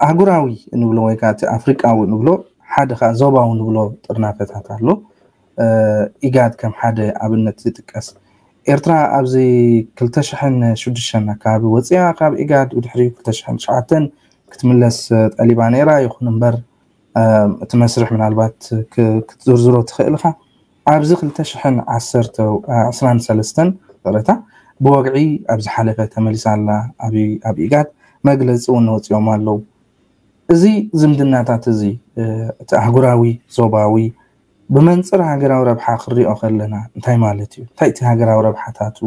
ኣህጉራዊ ንብሎ ወይ ከዓ እቲ ኣፍሪቃዊ ንብሎ ሓደ ከዓ ዞባዊ ንብሎ ጥርናፈታት ኣሎ። ኢጋድ ከም ሓደ ኣብነት ዝጥቀስ። ኤርትራ ኣብዚ ክልተ ሽሕን ሽዱሽተን ኣካባቢ ወፅያ ካብ ኢጋድ፣ ብድሕሪ ክልተ ሽሕን ትሽዓተን ክትምለስ ጠሊባ ነይራ። ይኹን እምበር እቲ መስርሕ ምናልባት ክትዝርዝሮ ትኽእል ኢኻ። ኣብዚ ክልተ ሽሕን ዓሰርተ ዕስራን ሰለስተን ይቕረታ፣ ብወግዒ ኣብ ዝሓለፈ ተመሊሳ ኣላ። ኣብ ኢጋድ መግለፂ እውን ወፂኦም ኣለዉ። እዚ ዝምድናታት እዚ እቲ ኣህጉራዊ፣ ዞባዊ፣ ብመንፅር ሃገራዊ ረብሓ ክሪኦ ከለና እንታይ ማለት እዩ? እንታይ እቲ ሃገራዊ ረብሓታቱ?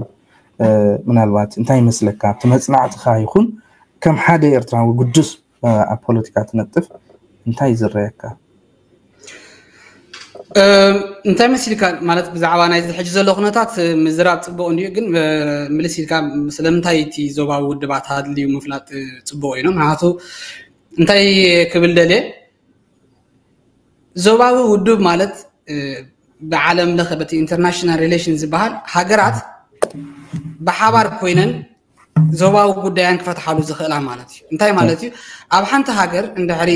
ምናልባት እንታይ ይመስለካ? ኣብቲ መፅናዕትኻ ይኹን ከም ሓደ ኤርትራዊ ግዱስ ኣብ ፖለቲካ ትነጥፍ እንታይ ዝረየካ? እንታይ መሲልካ ማለት ብዛዕባ ናይዚ ሕጂ ዘሎ ኩነታት ምዝራብ ፅቡቅ እንዲዩ፣ ግን ምልስ ኢልካ ስለምንታይ እቲ ዞባዊ ውድባት ኣድልዩ ምፍላጥ ፅቡቅ እዩ። ምክንያቱ እንታይ ክብል ደልየ፣ ዞባዊ ውድብ ማለት ብዓለም ለኸ በቲ ኢንተርናሽናል ሪሌሽን ዝበሃል ሃገራት ብሓባር ኮይነን ዞባዊ ጉዳያን ክፈትሓሉ ዝኽእላ ማለት እዩ። እንታይ ማለት እዩ? ኣብ ሓንቲ ሃገር እንድሕሪ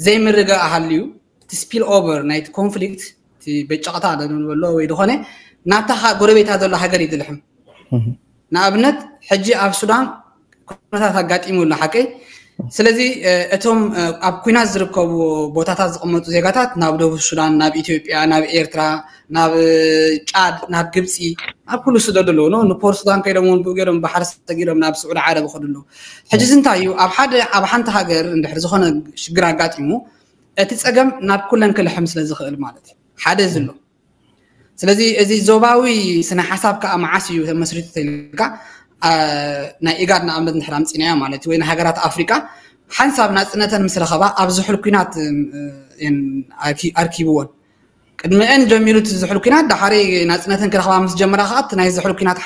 ዘይምርግጋእ ሃልዩ፣ እቲ ስፒል ኦቨር ናይቲ ኮንፍሊክት፣ እቲ በጨቕታ ንበሎ ወይ ዝኾነ ናብታ ጎረቤታ ዘሎ ሃገር እዩ ዝልሕም። ንኣብነት ሕጂ ኣብ ሱዳን ኩነታት ኣጋጢሙ ኣሎ ሓቀይ። ስለዚ እቶም ኣብ ኩናት ዝርከቡ ቦታታት ዝቕመጡ ዜጋታት ናብ ደቡብ ሱዳን፣ ናብ ኢትዮጵያ፣ ናብ ኤርትራ፣ ናብ ጫድ፣ ናብ ግብፂ፣ ናብ ኩሉ ስደዱ ኣለዉ። ንፖር ሱዳን ከይዶም እውን ብኡ ገይሮም ባሕሪ ሰጊሮም ናብ ስዑዲ ዓረብ ይኸዱ ኣለዉ። ሕጂ እዚ እንታይ እዩ? ኣብ ሓደ ኣብ ሓንቲ ሃገር እንድሕር ዝኾነ ሽግር ኣጋጢሙ እቲ ፀገም ናብ ኩለን ክልሕም ስለ ዝኽእል ማለት እዩ። ሓደ እዚ ኣሎ። ስለዚ እዚ ዞባዊ ስነ ሓሳብ ከዓ መዓስ እዩ ተመስሪቱ ተልካ ናይ ኢጋድ ንኣብነት እንድሕር ኣምፂናዮ ማለት እዩ፣ ወይ ንሃገራት ኣፍሪቃ ሓንሳብ ናፅነተን ምስ ረኸባ ኣብ ዝሑል ኩናት ኣርኪብዎን ቅድሚአን ጀሚሩ እቲ ዝሑል ኩናት፣ ዳሓሪ ናፅነተን ክረኽባ ምስ ጀመራ ከዓ እቲ ናይ ዝሑል ኩናት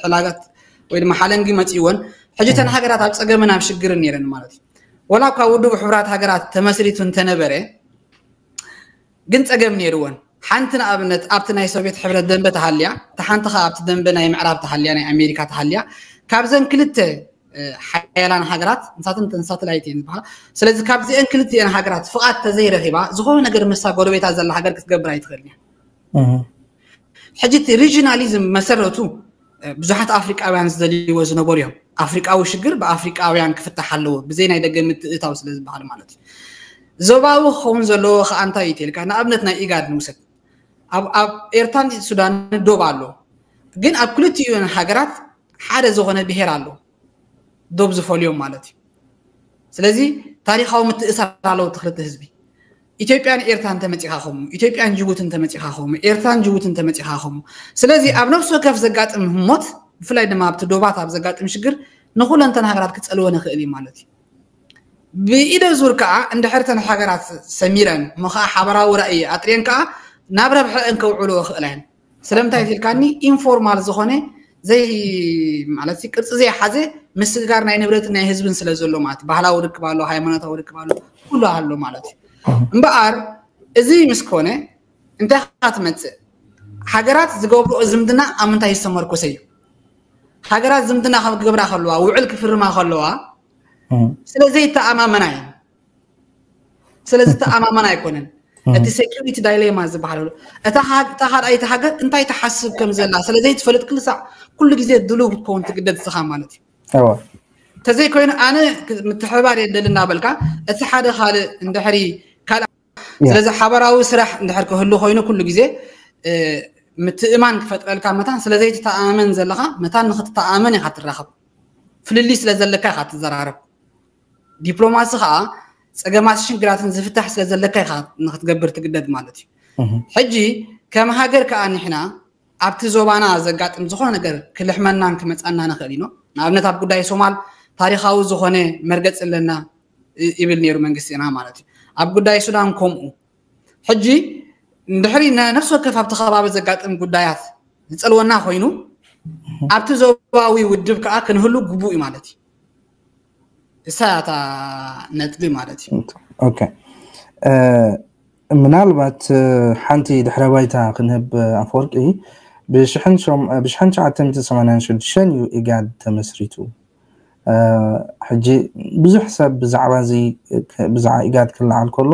ሕላጋት ወይ ድማ ሓለንጊ መፂእዎን። ሕጂ እተን ሃገራት ኣብ ፀገምን ኣብ ሽግርን ነይረን ማለት እዩ። ወላ እኳ ውድብ ሕቡራት ሃገራት ተመስሪቱ እንተነበረ ግን ፀገም ነይርወን። ሓንቲ ንኣብነት ኣብቲ ናይ ሶቪየት ሕብረት ደንበ ተሃልያ፣ እታ ሓንቲ ከዓ ኣብቲ ደንበ ናይ ምዕራብ ተሃልያ፣ ናይ ኣሜሪካ ተሃልያ፣ ካብዘን ክልተ ሓያላን ሃገራት ንሳተን ሳተላይት እየን ዝበሃላ። ስለዚ ካብዚአን ክልቲአን ሃገራት ፍቓድ ተዘይረኺባ ዝኾነ ነገር ምሳ ጎረቤታ ዘላ ሃገር ክትገብር ኣይትኽእልን እያ። ሕጂ እቲ ሪጂናሊዝም መሰረቱ ብዙሓት ኣፍሪቃውያን ዝደልይዎ ዝነበሩ እዮም። ኣፍሪቃዊ ሽግር ብኣፍሪቃውያን ክፍታሕ ኣለዎ ብዘይ ናይ ደገ ምትእታው ስለ ዝበሃል ማለት እዩ። ዞባዊ ክኸውን ዘለዎ ከዓ እንታይ እዩ ተልካ? ንኣብነት ናይ ኢጋድ ንውሰድ። ኣብ ኤርትራን ሱዳን ዶብ ኣሎ፣ ግን ኣብ ክልቲኡ ሃገራት ሓደ ዝኾነ ብሄር ኣሎ ዶብ ዝፈልዮም ማለት እዩ። ስለዚ ታሪካዊ ምትእሳር ኣለዎ እቲ ክልተ ህዝቢ። ኢትዮጵያን ኤርትራን ተመፂኻ ኸሙ፣ ኢትዮጵያን ጅቡትን ተመፂኻ ኸሙ፣ ኤርትራን ጅቡትን ተመፂኻ ኸሙ። ስለዚ ኣብ ነፍሲ ወከፍ ዘጋጥም ህሞት፣ ብፍላይ ድማ ኣብቲ ዶባት ኣብ ዘጋጥም ሽግር ንኩለንተን ሃገራት ክፀልወን ይኽእል እዩ ማለት እዩ። ብኢደ ዙር ከዓ እንድሕር ተን ሃገራት ሰሚረን እሞ ከዓ ሓበራዊ ራእይ ኣጥርየን ከዓ ናብ ረብሐአን ከውዕልኦ ይኽእላ እየን። ስለምንታይ ኢልካኒ ኢንፎርማል ዝኾነ ዘይ ማለት ቅርፂ ዘይሓዘ ምስግጋር ናይ ንብረትን ናይ ህዝብን ስለ ዘሎ ማለት ባህላዊ ርክብ ኣሎ፣ ሃይማኖታዊ ርክብ ኣሎ፣ ኩሉ ኣሎ ማለት እዩ። እምበኣር እዚ ምስ ኮነ እንታይ ኢኻ ትመፅእ? ሃገራት ዝገብርኦ ዝምድና ኣብ ምንታይ ዝተመርኮሰ እዩ? ሃገራት ዝምድና ክገብራ ከለዋ ውዕል ክፍርማ ከለዋ ስለ ዘይተኣማመና እየን። ስለ ዝተኣማመና ኣይኮነን። እቲ ሴኩሪቲ ዳይሌማ ዝበሃል ኣሎ። እታ ካልኣይቲ ሃገር እንታይ ትሓስብ ከም ዘላ ስለ ዘይትፈልጥ ክልሳዕ ኩሉ ግዜ ድሉው ክትከውን ትግደድ ንስኻ ማለት እዩ። ተዘይኮይኑ ኣነ ምትሕብባር የደሊ እናበልካ እቲ ሓደ ካልእ እንድሕሪ ካልእ ስለዚ ሓበራዊ ስራሕ እንድሕር ክህሉ ኮይኑ ኩሉ ግዜ ምትእማን ክፈጥረልካ መታን ስለ ዘይትተኣማመን ዘለኻ መታን ንክትተኣማመን ኢኻ ትራኸብ። ፍልልይ ስለ ዘለካ ኢኻ ትዘራረብ። ዲፕሎማሲ ከዓ ፀገማት ሽግራትን ዝፍታሕ ስለ ዘለካ ኢኻ ንክትገብር ትግደድ ማለት እዩ። ሕጂ ከም ሃገር ከዓ ንሕና ኣብቲ ዞባና ዘጋጥም ዝኾነ ነገር ክልሕመናን ክመፃና ንኽእል ኢና። ንኣብነት ኣብ ጉዳይ ሶማል ታሪኻዊ ዝኾነ መርገፂ ኣለና ይብል ነይሩ መንግስትና ማለት እዩ። ኣብ ጉዳይ ሱዳን ከምኡ። ሕጂ እንድሕሪ ነፍሲ ወከፍ ኣብቲ ከባቢ ዘጋጥም ጉዳያት ዝፀልወና ኮይኑ ኣብቲ ዞባዊ ውድብ ከዓ ክንህሉ ግቡእ እዩ ማለት እዩ። እሳ እታ ነጥቢ ማለት እዩ። ኦኬ፣ ምናልባት ሓንቲ ድሕረ ባይታ ክንህብ ኣፈወርቂ፣ ብሽሕን ትሽዓተ ሚእትን ሰማንያን ሽዱሽተን እዩ ኢጋድ ተመስሪቱ። ሕጂ ብዙሕ ሰብ ብዛዕባ እዚ ብዛዕባ ኢጋድ ክለዓል ከሎ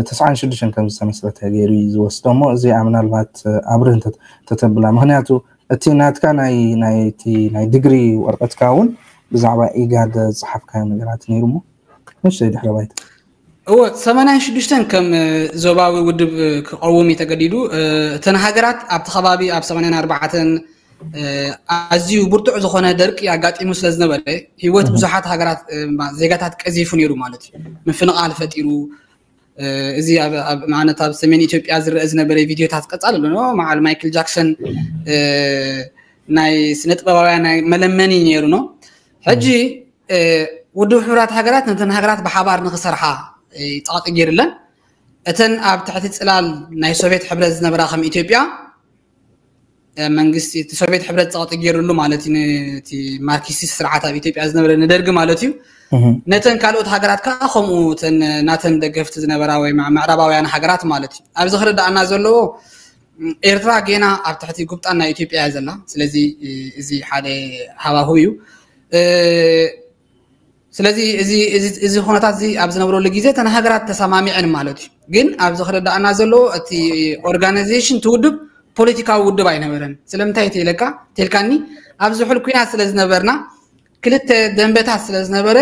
ተስዓን ሽዱሽተን ከም ዝተመስረተ ገይሩ እዩ ዝወስዶ። እሞ እዚኣ ምናልባት ኣብርህ ተተብላ፣ ምክንያቱ እቲ ናትካ ናይ ናይ ዲግሪ ወረቀትካ እውን ብዛዕባ ኢጋድ ዝፀሓፍካዮ ነገራት ነይሩ። እሞ ንእሽተይ ድሕረ ባይታ። እወ ሰማንያን ሽዱሽተን ከም ዞባዊ ውድብ ክቐውም እዩ ተገዲዱ። እተን ሃገራት ኣብቲ ከባቢ ኣብ ሰማንያን ኣርባዕተን ኣዝዩ ብርቱዕ ዝኾነ ደርቂ ኣጋጢሙ ስለ ዝነበረ ህይወት ብዙሓት ሃገራት ዜጋታት ቀዚፉ ነይሩ ማለት እዩ። ምፍንቓል ፈጢሩ። እዚ ንኣብነት ኣብ ሰሜን ኢትዮጵያ ዝረአ ዝነበረ ቪድዮታት ቀፃሊ ኣሎ። መዓል ማይክል ጃክሰን ናይ ስነ ጥበባውያን ናይ መለመኒ ነይሩ ነው። ሕጂ ውድብ ሕቡራት ሃገራት ነተን ሃገራት ብሓባር ንክሰርሓ ፀቕጢ ገይሩለን። እተን ኣብ ትሕቲ ፅላል ናይ ሶቪየት ሕብረት ዝነበራ ከም ኢትዮጵያ መንግስቲ እቲ ሶቪየት ሕብረት ፀቕጢ ገይሩሉ ማለት እዩ። ነቲ ማርክሲስት ስርዓት ኣብ ኢትዮጵያ ዝነበረ ንደርጊ ማለት እዩ። ነተን ካልኦት ሃገራት ከዓ ከምኡ እተን ናተን ደገፍቲ ዝነበራ ወይ ምዕራባውያን ሃገራት ማለት እዩ። ኣብዚ ክርዳእና ዘለዎ ኤርትራ ጌና ኣብ ትሕቲ ጉብጣን ናይ ኢትዮጵያ እያ ዘላ። ስለዚ እዚ ሓደ ሃዋሁ እዩ። ስለዚ እዚ ኩነታት እዚ ኣብ ዝነብረሉ ግዜ እተን ሃገራት ተሰማሚዐን ማለት እዩ። ግን ኣብዚ ክርዳእና ዘለዎ እቲ ኦርጋናይዜሽን እቲ ውድብ ፖለቲካዊ ውድብ ኣይነበረን። ስለምንታይ ተይለካ ተልካኒ ኣብ ዝሑል ኩናት ስለ ዝነበርና ክልተ ደንበታት ስለ ዝነበረ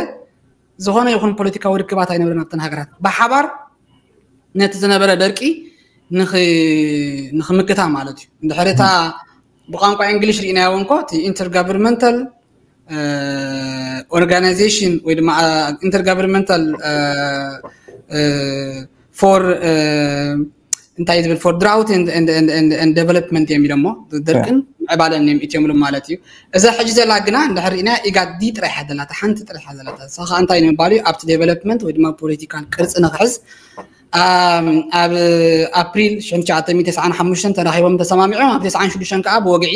ዝኾነ ይኹን ፖለቲካዊ ርክባት ኣይነበረን ኣብተን ሃገራት ብሓባር ነቲ ዝነበረ ደርቂ ንኽምክታ ማለት እዩ። እንድሕር እታ ብቋንቋ እንግሊሽ ርኢናዮ እንኮ እቲ ኢንተርጋቨርንመንታል ኦርጋናይዜሽን ወይ ድማ ኢንተርጋቨርንመንታል ፎር እንታይ ዝብል for drought and development እዮም ኢሎሞ። ደርቅን ዕባለን እዮም እትምሉ ማለት እዩ። እዛ ሕጂ ዘላ ግና እንድሕር ርኢና ኢጋድ ጥራሕ ዘላታ ሓንቲ ጥራሕ ዘላታ እሳ ከዓ እንታይ ንምባል እዩ ኣብቲ ዴቨሎፕመንት ወይ ድማ ፖለቲካል ቅርፂ ንክሕዝ ኣብ ኣፕሪል ሽሕን ትሽዓተ ሚእትን ተስዓን ሓሙሽተን ተራኺቦም ተሰማሚዖም ኣብ ተስዓን ሽዱሽተን ከዓ ብወግዒ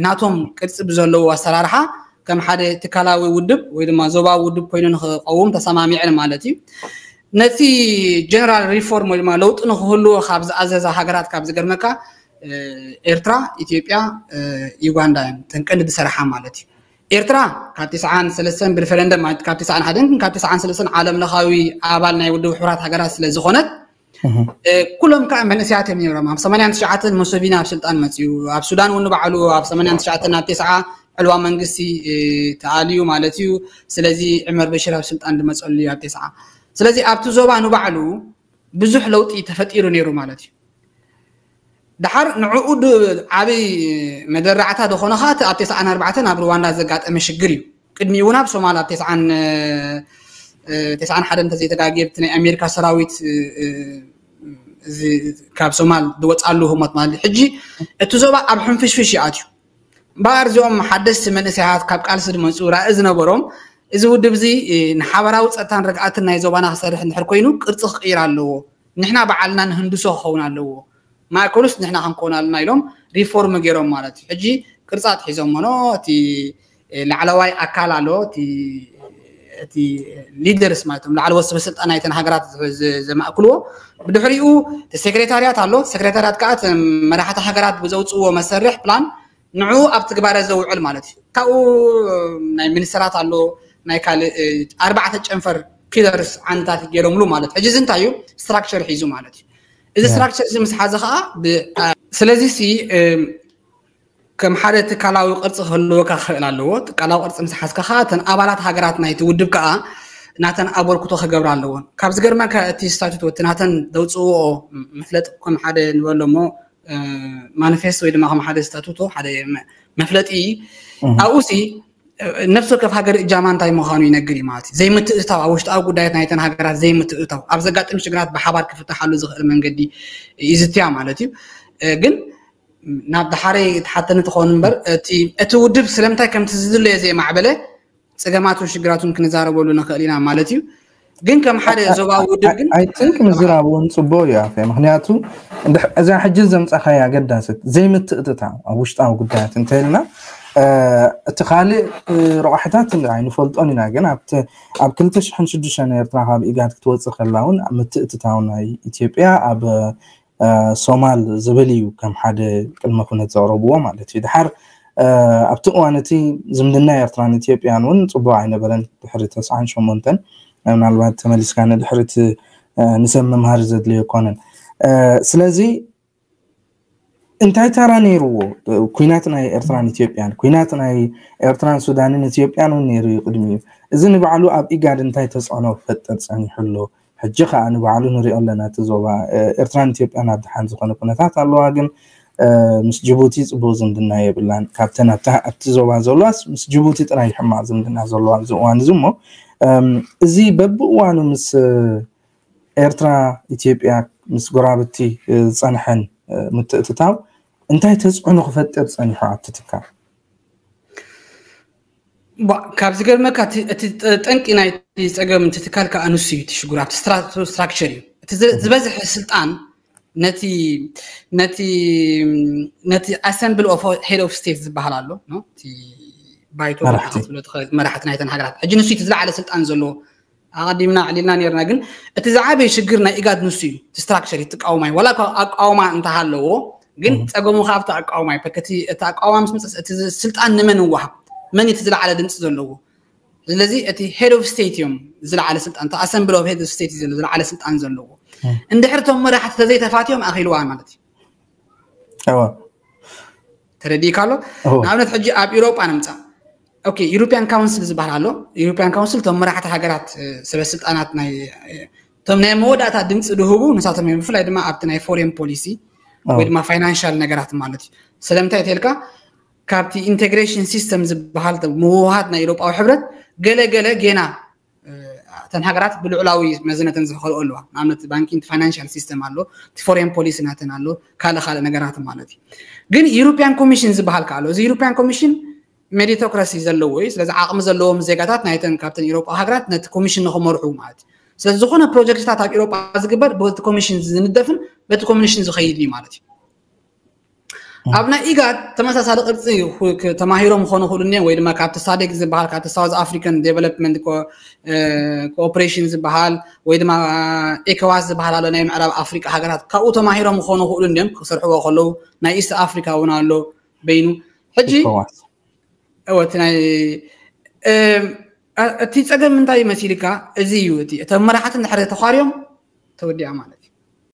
ናቶም ቅርፂ ብዘለዎ ኣሰራርሓ ከም ሓደ ትካላዊ ውድብ ወይ ድማ ዞባዊ ውድብ ኮይኑ ንክቀውም ተሰማሚዐን ማለት እዩ። ነቲ ጀነራል ሪፎርም ወይ ድማ ለውጢ ንክህልዎ ካብ ዝኣዘዛ ሃገራት ካብ ዝገርመካ ኤርትራ፣ ኢትዮጵያ፣ ዩጋንዳ እየን ተን ቀንዲ ዝሰርሓ ማለት እዩ። ኤርትራ ካብ ተስዓን ሰለስተን ብሪፈረንደም ማለት ካብ ተስዓን ሓደን ካብ ተስዓን ሰለስተን ዓለም ለኻዊ ኣባል ናይ ውድብ ሕቡራት ሃገራት ስለ ዝኾነት ኩሎም ከዓ መንእሰያት እዮም ነይሮም። ኣብ ሰማንያን ትሽዓተን ሙሰቪኒ ኣብ ስልጣን መፅዩ። ኣብ ሱዳን እውን ንባዕሉ ኣብ ሰማንያን ትሽዓተን ኣብ ተስዓ ዕልዋ መንግስቲ ተኣልዩ ማለት እዩ። ስለዚ ዕመር በሽር ኣብ ስልጣን ዝመፀሉ እዩ ኣብ ተስዓ። ስለዚ ኣብቲ ዞባ ንባዕሉ ብዙሕ ለውጢ ተፈጢሩ ነይሩ ማለት እዩ። ድሓር ንዕኡ ዓብይ መደራዕታ ዝኾነ ከዓ እቲ ኣብ ተስዓን ኣርባዕተን ኣብ ሩዋንዳ ዘጋጠመ ሽግር እዩ። ቅድሚኡ እውን ኣብ ሶማል ኣብ ተስዓን ሓደን እንተዘይተጋግየ ብቲ ናይ ኣሜሪካ ሰራዊት ካብ ሶማል ዝወፃሉ ህሞት ማለት ሕጂ እቲ ዞባ ኣብ ሕንፍሽፍሽ ይኣትዩ። እምበኣር እዚኦም ሓደስቲ መንእሰያት ካብ ቃልሲ ዝመፁ ራኢ ዝነበሮም እዚ ውድብ እዚ ንሓበራዊ ፀጥታን ርግኣትን ናይ ዞባና ክሰርሕ እንድሕር ኮይኑ ቅርፂ ክቅይር ኣለዎ። ንሕና በዓልና ንህንድሶ ክኸውን ኣለዎ። ማእከሉስ ንሕና ክንከውን ኣለና ኢሎም ሪፎርም ገይሮም ማለት እዩ። ሕጂ ቅርፂ ኣትሒዞሞ ኖ እቲ ላዕለዋይ ኣካል ኣሎ እቲ ሊደርስ ማለት እዮም ላዕለዎት ሰበስልጣን ናይተን ሃገራት ዘማእክልዎ። ብድሕሪኡ ሴክሬታርያት ኣሎ። ሴክሬታርያት ከዓ መራሕቲ ሃገራት ብዘውፅዎ መሰርሕ ፕላን ንዑ ኣብ ትግባረ ዘውዕል ማለት እዩ። ካብኡ ናይ ሚኒስተራት ኣሎ ናይ ካልእ ኣርባዕተ ጨንፈር ፒለርስ ዓንድታት ገይሮምሉ ማለት ሕጂ እዚ እንታይ እዩ ስትራክቸር ሒዙ ማለት እዩ። እዚ ስትራክቸር እዚ ምስ ሓዘ ከዓ ስለዚ ሲ ከም ሓደ ትካላዊ ቅርፂ ክህልወካ ክኽእል ኣለዎ። ትካላዊ ቅርፂ ምስ ሓዝካ ከዓ እተን ኣባላት ሃገራት ናይቲ ውድብ ከዓ ናተን ኣበርክቶ ክገብራ ኣለዎን። ካብ ዝገርመካ እቲ ስታቱቶ እቲ ናተን ዘውፅእዎ መፍለጢ ከም ሓደ ንበሎ እሞ ማኒፌስቶ ወይ ድማ ከም ሓደ ስታቱቶ ሓደ መፍለጢ ኣብኡ ሲ ነፍሲ ወከፍ ሃገር እጃማ እንታይ ምዃኑ ይነግር እዩ ማለት እዩ። ዘይምትእትታው ኣብ ውሽጣዊ ጉዳያት ናይተን ሃገራት ዘይምትእትታው ኣብ ዘጋጥም ሽግራት ብሓባር ክፍታሓሉ ዝኽእል መንገዲ ይዝትያ ማለት እዩ። ግን ናብ ድሓረይ ትሓተኒ ትኸውን እምበር እቲ ውድብ ስለምንታይ ከምቲ ዝድለዮ ዘይማዕበለ ፀገማቱን ሽግራቱን ክንዛረበሉ ንኽእል ኢና ማለት እዩ። ግን ከም ሓደ ዞባዊ ውድብ ግን ኣይትንክ ምዝራብ እውን ፅቡቅ እዩ ኣፈ ምክንያቱ እዛ ሕጂ ዘምፃኻይ ኣገዳሰት ዘይምትእትታው ኣብ ውሽጣዊ ጉዳያት እንተልና እቲ ካልእ ረቋሕታት ኣይንፈልጦን ኢና ግን ኣብ ክልተ ሽሕን ሽዱሽተን ኤርትራ ካብ ኢጋድ ክትወፅእ ከላ እውን ምትእትታው ናይ ኢትዮጵያ ኣብ ሶማል ዝብል እዩ ከም ሓደ ቅድመ ኩነት ዘቕረብዎ ማለት እዩ። ድሓር ኣብቲ እዋን እቲ ዝምድና ኤርትራን ኢትዮጵያን እውን ፅቡቅ ኣይነበረን። ድሕሪ ተስዓን ሸሞንተን ምናልባት ተመሊስካ ንድሕሪት ንሰብ መምሃሪ ዘድልዮ ኣይኮነን። ስለዚ እንታይ ተራ ነይርዎ? ኩናት ናይ ኤርትራን ኢትዮጵያን፣ ኩናት ናይ ኤርትራን ሱዳንን ኢትዮጵያን እውን ነይሩ እዩ ቅድሚኡ። እዚ ንባዕሉ ኣብ ኢጋድ እንታይ ተፅዕኖ ክፈጥር ፀኒሑ ኣሎ? ሕጂ ከዓ ንባዕሉ ንሪኦ ኣለና። እቲ ዞባ ኤርትራን ኢትዮጵያን ኣብ ደሓን ዝኾነ ኩነታት ኣለዋ፣ ግን ምስ ጅቡቲ ፅቡቅ ዝምድና የብላን። ካብተን ኣብቲ ዞባ ዘለዋስ ምስ ጅቡቲ ጥራይ ሕማቅ ዝምድና ዘለዋ ኣብዚ እዋን እዚ። እሞ እዚ በብእዋኑ ምስ ኤርትራ፣ ኢትዮጵያ፣ ምስ ጎራብቲ ዝፀንሐን ምትእትታው እንታይ ተፅዕኖ ክፈጥር ፀኒሑ ኣብቲ ትካል? ካብ ዝገርመካ እቲ ጠንቂ ናይ ፀገም እቲ ትካል ከዓ ንሱ እዩ። እቲ ሽጉር ኣብቲ ስትራክቸር እዩ። እቲ ዝበዝሐ ስልጣን ነቲ ነቲ ነቲ ኣሰምብል ኦፍ ሄድ ኦፍ ስቴት ዝበሃል ኣሎ፣ ባይቶ መራሕቲ ናይተን ሃገራት። ሕጂ ንሱ እቲ ዝለዓለ ስልጣን ዘለዎ ኣቐዲምና ኣዕሊልና ነርና። ግን እቲ ዝዓበየ ሽግር ናይ ኢጋድ ንሱ እዩ። እቲ ስትራክቸር እዩ። ትቃወማይ ዋላ ኣቃውማ እንተሃለዎ፣ ግን ፀገሙ ካብ እቲ ኣቃውማ እዩ። እቲ ኣቃውማ ምስ መፅእ እቲ ስልጣን ንመን ይወሃብ? መን እቲ ዝለዓለ ድምፂ ዘለዎ? ስለዚ እቲ ሄድ ኦፍ ስቴት እዮም ዝለዓለ ስልጣን፣ ኣሰምብል ኦፍ ሄድ ኦፍ ስቴት እዩ ዝለዓለ ስልጣን ዘለዎ። እንድሕር እቶም መራሕቲ ተዘይተፋትዮም ኣኺልዋ ማለት እዩ። ተረዲእካ ኣሎ። ንኣብነት ሕጂ ኣብ ኢሮጳ ንምፃእ፣ ኦኬ፣ ዩሮፒያን ካውንስል ዝበሃል ኣሎ። ዩሮፒያን ካውንስል እቶም መራሕቲ ሃገራት፣ ሰበ ስልጣናት ናይ እቶም ናይ መወዳእታ ድምፂ ድህቡ ንሳቶም እዮም። ብፍላይ ድማ ኣብቲ ናይ ፎሬን ፖሊሲ ወይ ድማ ፋይናንሻል ነገራት ማለት እዩ። ስለምንታይ ተልካ ካብቲ ኢንቴግሬሽን ሲስተም ዝበሃል ምውሃድ ናይ ኤውሮጳዊ ሕብረት ገለ ገለ ጌና እተን ሃገራት ብልዑላዊ መዝነተን ዝኸልኦ ኣለዋ። ንኣብነት ባንኪንግ ፋይናንሻል ሲስተም ኣሎ፣ እቲ ፎሬን ፖሊሲ ናተን ኣሎ፣ ካልእ ካልእ ነገራት ማለት እዩ። ግን ዩሮፒያን ኮሚሽን ዝበሃል ከ ኣሎ። እዚ ዩሮፒያን ኮሚሽን ሜሪቶክራሲ ዘለዎ እዩ። ስለዚ ዓቕሚ ዘለዎም ዜጋታት ናይተን ካብተን ኤውሮጳዊ ሃገራት ነቲ ኮሚሽን ንኽመርሑ ማለት እዩ። ስለዚ ዝኾነ ፕሮጀክትታት ኣብ ኤውሮጳ ዝግበር በቲ ኮሚሽን ዝንደፍን በቲ ኮሚሽን ዝኸይድ እዩ ማለት እዩ። ኣብ ናይ ኢጋድ ተመሳሳሊ ቅርፂ ተማሂሮም ክኾኑ ክእሉ እኒኦም፣ ወይ ድማ ካብቲ ሳዴክ ዝበሃል ካብቲ ሳውዝ ኣፍሪካን ዴቨሎፕመንት ኮኦፕሬሽን ዝበሃል ወይ ድማ ኤኮዋስ ዝበሃል ኣሎ ናይ ምዕራብ ኣፍሪቃ ሃገራት፣ ካብኡ ተማሂሮም ክኾኑ ክእሉ እኒኦም ክሰርሕዎ ከለዉ። ናይ ኢስት ኣፍሪካ እውን ኣሎ በይኑ። ሕጂ እወ እቲ ናይ እቲ ፀገም እንታይ መሲልካ? እዚ እዩ እቲ እቶም መራሕቲ እንድሕር ተኳርዮም ተወዲኣ ማለት